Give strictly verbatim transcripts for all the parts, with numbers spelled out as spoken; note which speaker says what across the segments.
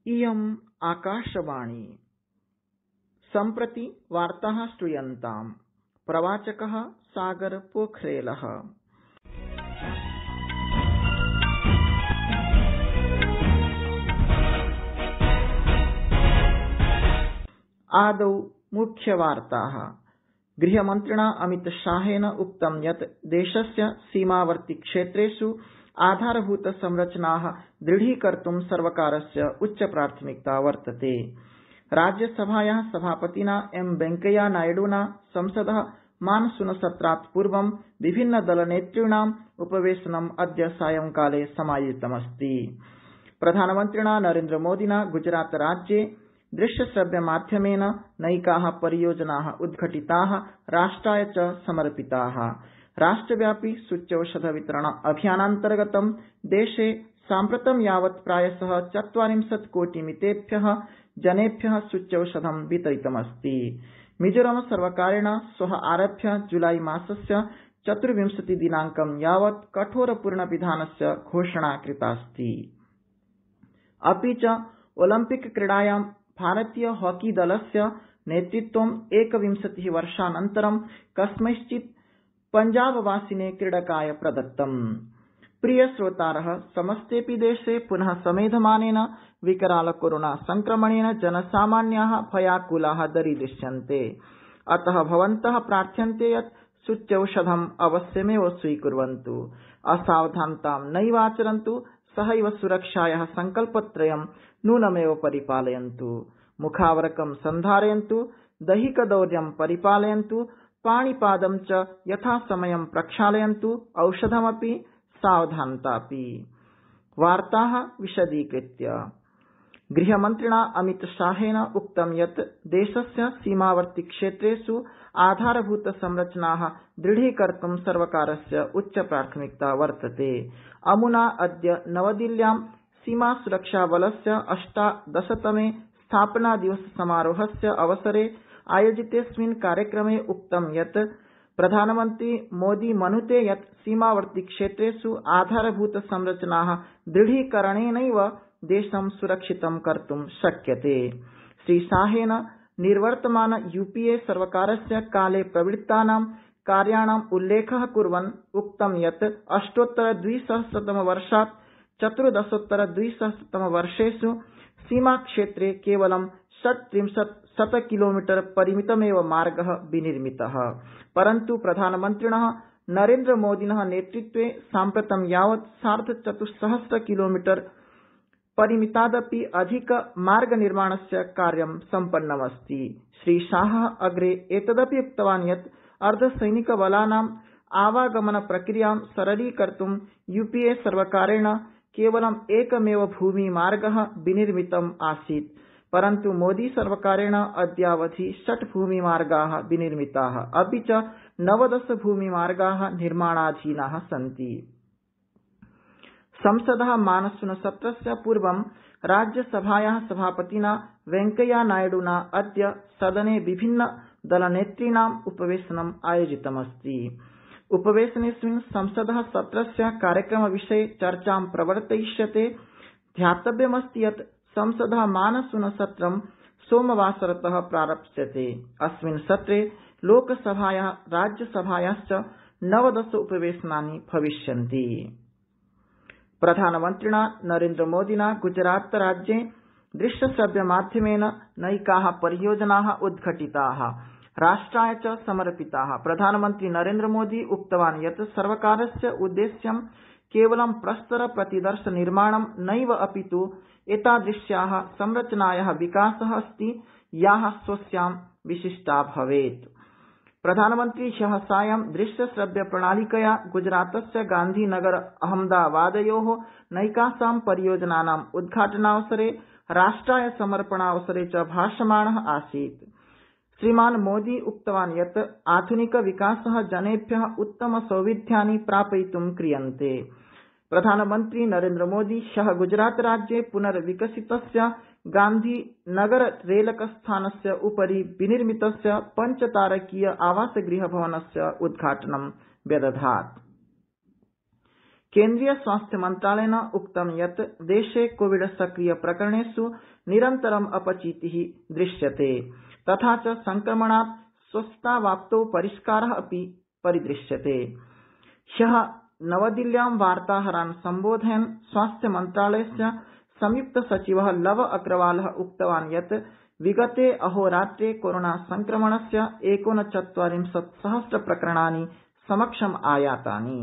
Speaker 1: इयम् आकाशवाणी। सम्प्रति वार्ताः श्रूयन्ताम्। प्रवाचकः सागर पोखरेलः। आदौ मुख्यवार्ताः। गृहमन्त्रिणा अमितशाहेन उक्तं यत् देशस्य सीमावर्ति क्षेत्रेषु आधारभूत संरचनाः दृढीकर्तुं सर्वकारस्य उच्चप्राथमिकता वर्तते। राज्यसभायाः सभापतिना एम वेंकैया नायडुना संसदः मानसूनसत्रात् पूर्वं विभिन्नदलनेतॄणाम् उपवेशनम् अद्य सायंकाले समायोजितमस्ति। प्रधानमन्त्रिणा नरेन्द्रमोदिना गुजरातराज्ये दृश्यश्रव्यमाध्यमेन नैकाः परियोजनाः उद्घटिताः राष्ट्राय च समर्पिताः। राष्ट्रव्यापी सूच्यौषधवितरण अभियानान्तर्गतं देशे साम्प्रतं यावत् प्रायशः चत्वारिंशत् कोटिमितेभ्यः जनेभ्यः सूच्यौषधं वितरितमस्ति। मिजोरम सर्वकारेण श्वः आरभ्य जुलाई मासस्य चतुर्विंशति दिनांकं यावत् कठोरपूर्णपिधानस्य घोषणा कृतास्ति। अपि च ओलम्पिक क्रीडायां भारतीय हॉकी दलस्य नेतृत्वं एकविंशतिः वर्षानन्तरं कस्मैश्चित् पंजाबवासिने क्रीडकाय प्रदत्तम्। प्रिय श्रोतारः, समस्तेऽपि देशे पुनः समेधमानेन विकराल कोरोना संक्रमणेन जनसामान्याः भयाकुलाः दरीदृश्यन्ते। अतः भवन्तः प्रार्थ्यन्ते यत् सूच्यौषधम् अवश्यमेव स्वीकुर्वन्तु, असावधानतां नैवाचरन्तु, सहैव सुरक्षायाः संकल्पत्रयं नूनमेव परिपालयन्तु। मुखावरकं सन्धारयन्तु, दैहिकदौर्यं परिपालयन्तु, पाणिपादं च यथासमयं प्रक्षालयन्तु, औषधमपि सावधानतापि। वार्ताः विशदीकृत्य। गृहमन्त्रिणा अमितशाहेन उक्तं यत् देशस्य सीमावर्ति क्षेत्रेषु आधारभूत संरचनाः दृढीकर्तुं सर्वकारस्य उच्चप्राथमिकता वर्तते। अमुना अद्य नवदिल्ल्यां सीमासुरक्षाबलस्य अष्टादशतमे स्थापनादिवस समारोहस्य अवसरे आयोजितेऽस्मिन् कार्यक्रमे उक्तं यत् प्रधानमन्त्री मोदी मनुते यत् सीमावर्ति क्षेत्रेषु आधारभूत संरचनाः दृढीकरणेनैव देशं सुरक्षितं कर्तुं शक्यते। श्रीशाहेन निर्वर्तमान यूपीए सर्वकारस्य काले प्रवृत्तानां कार्याणाम् उल्लेखः कुर्वन् उक्तं यत् अष्टोत्तरद्विसहस्रतमवर्षात् चतुर्दशोत्तरद्विसहस्रतमवर्षेषु सीमाक्षेत्रे केवलं षट्त्रिंशत् शतकिलोमीटर परिमितमेव मार्गः विनिर्मितः, परन्तु प्रधानमन्त्रिणः नरेन्द्रमोदिनः नेतृत्वे साम्प्रतं यावत् सार्धचतुस्सहस्र किलोमीटर परिमितादपि अधिक मार्गनिर्माणस्य कार्यं सम्पन्नमस्ति। श्रीशाहः अग्रे एतदपि उक्तवान् यत् अर्धसैनिकबलानाम् आवागमन प्रक्रियां सरलीकर्तुं यूपीए सर्वकारेण केवलं एकमेव भूमिमार्गः विनिर्मितम् आसीत्, परन्तु मोदी सर्वकारेण अद्यावधि षट् भूमिमार्गाः विनिर्मिताः, अपि च नवदश भूमिमार्गाः निर्माणाधीनाः सन्ति। संसदः मानसूनसत्रस्य पूर्वं राज्यसभायाः सभापतिना वेंकैया नायडुना अद्य सदने विभिन्न दलनेतॄणाम् उपवेशनम् आयोजितमस्ति। उपवेशनेऽस्मिन् संसदः सत्रस्य कार्यक्रमविषये चर्चां प्रवर्तयिष्यते। ध्यातव्यमस्ति यत् संसदः मानसूनसत्रं सोमवासरतः प्रारप्स्यते। अस्मिन् सत्रे लोकसभायाः राज्यसभायाश्च नवदश उपवेशनानि भविष्यन्ति। प्रधानमन्त्रिणा नरेन्द्रमोदिना गुजरातराज्ये दृश्यश्रव्यमाध्यमेन नैकाः परियोजनाः उद्घटिताः राष्ट्राय च समर्पिताः। प्रधानमन्त्री नरेन्द्रमोदी उक्तवान् यत् सर्वकारस्य उद्देश्यं केवलं प्रस्तरप्रतिदर्शनिर्माणं नैव अपितु एतादृश्याः संरचनायाः विकासः अस्ति याः स्वस्यां विशिष्टा भवेत्। प्रधानमन्त्री ह्यः सायं दृश्यश्रव्यप्रणालिकया गुजरातस्य गान्धीनगर अहमदाबादयोः नैकासां परियोजनानाम् उद्घाटनावसरे राष्ट्राय समर्पणावसरे च भाषमाणः आसीत्। श्रीमान् मोदी उक्तवान् यत् आधुनिकविकासः जनेभ्यः उत्तमसौविध्यानि प्रापयितुं क्रियन्ते। प्रधानमन्त्री नरेन्द्रमोदी ह्यः गुजरातराज्ये पुनर्विकसितस्य गान्धीनगर रेलकस्थानस्य उपरि विनिर्मितस्य पञ्चतारकीय आवासगृहभवनस्य उद्घाटनं व्यदधात्। केन्द्रीय स्वास्थ्य मन्त्रालयेन उक्तं यत् देशे कोविड सक्रिय प्रकरणेषु निरन्तरम् अपचितिः दृश्यते तथा च संक्रमणात् स्वस्थतावाप्तौ परिष्कारः अपि परिदृश्यते। ह्यः नवदिल्ल्यां वार्ताहरान् सम्बोधयन् स्वास्थ्य मन्त्रालयस्य संयुक्त सचिवः लव अग्रवालः उक्तवान् यत् विगते अहोरात्रे कोरोना संक्रमणस्य एकोनचत्वारिंशत् सहस्र प्रकरणानि समक्षम् आयातानि।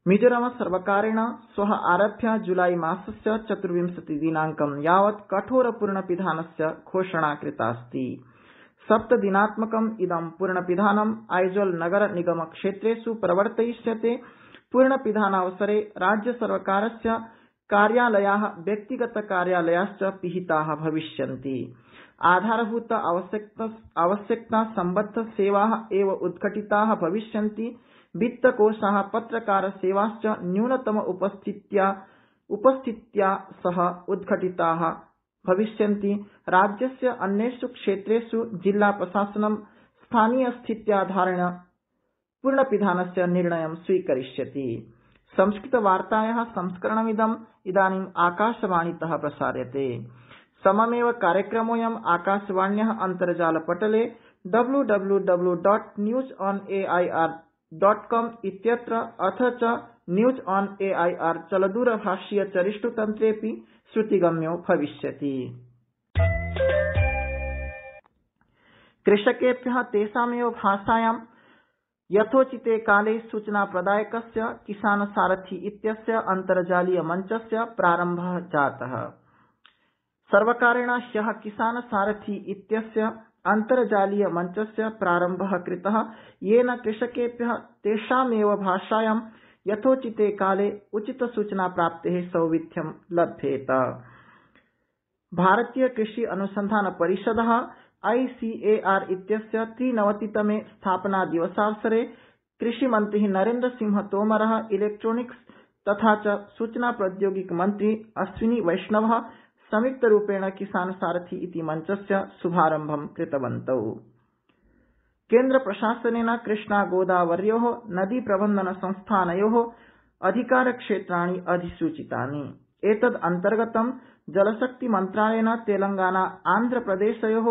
Speaker 1: मिजोरम सर्वकारेण श्वः आरभ्य जुलाई मासस्य चतुर्विंशति दिनांकं यावत् कठोरपूर्णपिधानस्य घोषणा कृतास्ति। सप्तदिनात्मकम् इदं पूर्णपिधानम् आइजोल नगर निगम क्षेत्रेषु प्रवर्तयिष्यते। पूर्णपिधानावसरे राज्यसर्वकारस्य कार्यालयाः व्यक्तिगत कार्यालयाश्च पिहिताः भविष्यन्ति। आधारभूत आवश्यकता सम्बद्ध सेवाः एव उद्घटिताः भविष्यन्ति। वित्तकोषाः पत्रकारसेवाश्च न्यूनतम उपस्थित्या उपस्थित्या सह उद्घटिताः भविष्यन्ति। राज्यस्य अन्येषु क्षेत्रेषु जिल्ला प्रशासनं स्थानीयस्थित्याधारेण पूर्णपिधानस्य निर्णयं स्वीकरिष्यति। संस्कृतवार्तायाः संस्करणमिदम् इदानीम् आकाशवाणीतः प्रसार्यते। सममेव कार्यक्रमोऽयम् आकाशवाण्याः अन्तर्जालपटले W W W dot news on AIR dot com इत्यत्र अथ च न्यूज ऑन एआईआर चलदूरभाषीय चरिष्टुतन्त्रेऽपि श्रुतिगम्यो भविष्यति। कृषकेभ्यः तेषामेव भाषायां यथोचिते काले सूचनाप्रदायकस्य किसान सारथी इत्यस्य अन्तर्जालीय मञ्चस्य प्रारम्भः जातः। सर्वकारेण ह्यः किसान सारथी इत्यस्य अन्तर्जालीय मञ्चस्य प्रारम्भः कृतः, येन कृषकेभ्यः तेषामेव भाषायां यथोचिते काले उचितसूचनाप्राप्तेः सौविध्यं लभ्येत। भारतीय कृषि अनुसंधान परिषदः आईसीएआर इत्यस्य त्रिनवतितमे स्थापनादिवसावसरे कृषिमन्त्री नरेन्द्रसिंह तोमरः, इलेक्ट्रोनिक्स तथा च सूचना प्रौद्योगिकी मन्त्री अश्विनी वैष्णवः संयुक्तरूपेण किसान सारथी इति मञ्चस्य शुभारम्भं कृतवन्तौ। केन्द्रप्रशासनेन कृष्णा गोदावर्योः नदी प्रबन्धन संस्थानयोः अधिकारक्षेत्राणि अधिसूचितानि। एतद् अन्तर्गतं जलशक्ति मन्त्रालयेन तेलंगाना आन्ध्रप्रदेशयोः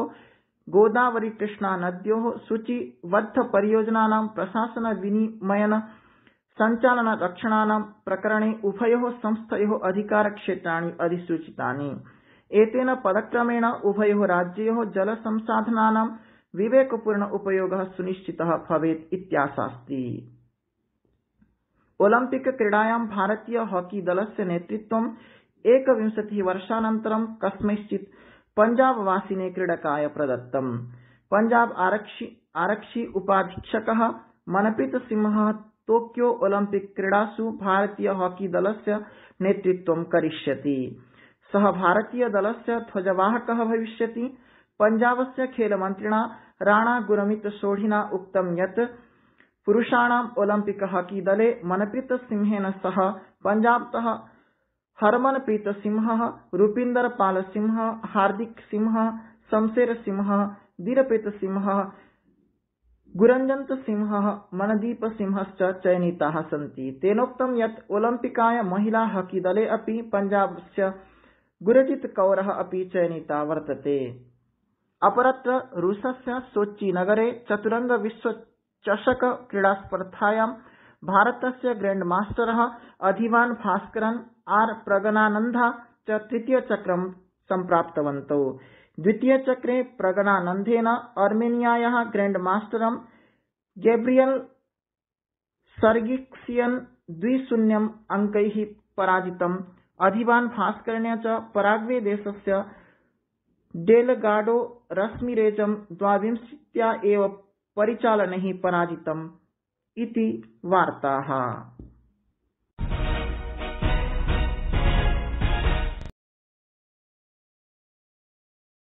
Speaker 1: गोदावरी कृष्णा नद्योः सूचीबद्ध परियोजनानां प्रशासन विनियमन संचालन रक्षणानां प्रकरणे उभयोः संस्थयोः अधिकारक्षेत्राणि अधिसूचितानि। एतेन पदक्रमेण उभयोः राज्ययोः जलसंसाधनानां विवेकपूर्ण उपयोगः सुनिश्चितः भवेत् इत्याशास्ति। ओलम्पिक क्रीडायां भारतीय हॉकी दलस्य नेतृत्वं एकविंशतिः वर्षानन्तरं कस्मैश्चित् पंजाबवासिने क्रीडकाय प्रदत्तम्। पंजाब आरक्षि आरक्षि उपाधीक्षकः मनप्रीत सिंहः टोक्यो ओलम्पिक क्रीडासु भारतीय हॉकी दलस्य नेतृत्वं करिष्यति। सः भारतीय दलस्य ध्वजवाहकः भविष्यति। पंजाबस्य खेलमन्त्रिणा राणा गुरमीत सोढिना उक्तं यत् पुरुषाणाम् ओलम्पिक हॉकी दले मनप्रीत सिंहेन सह पंजाबतः हरमनप्रीत सिंहः, रूपिन्दर पाल सिंहः, हार्दिक सिंहः, शमशेर सिंहः, दीरप्रीत सिंहः, गुरंजन्त सिंहः, मनदीप सिंहश्च चयनिताः सन्ति। तेनोक्तं यत् ओलम्पिकाय महिला हॉकी दले अपि पंजाबस्य गुरजीत कौरः अपि चयनिता वर्तते। अपरत्र रूसस्य सोच्ची नगरे चतुरंग विश्वचषक क्रीडास्पर्धायां भारतस्य ग्रैंड मास्टरः अधिवान भास्करन् आर प्रगनानन्दा च तृतीयचक्रं सम्प्राप्तवन्तौ। द्वितीयचक्रे प्रगनानन्देन अर्मेनियायाः ग्रैंड मास्टरं गैब्रियल सर्गिक्सियन द्वि शून्यं अंकैः पराजितम्। अधिवान भास्करेण च पराग्वे देशस्य डेलगाडो रश्मिरेजं द्वाविंशत्या एव परिचालनैः पराजितम् इति वार्ताः।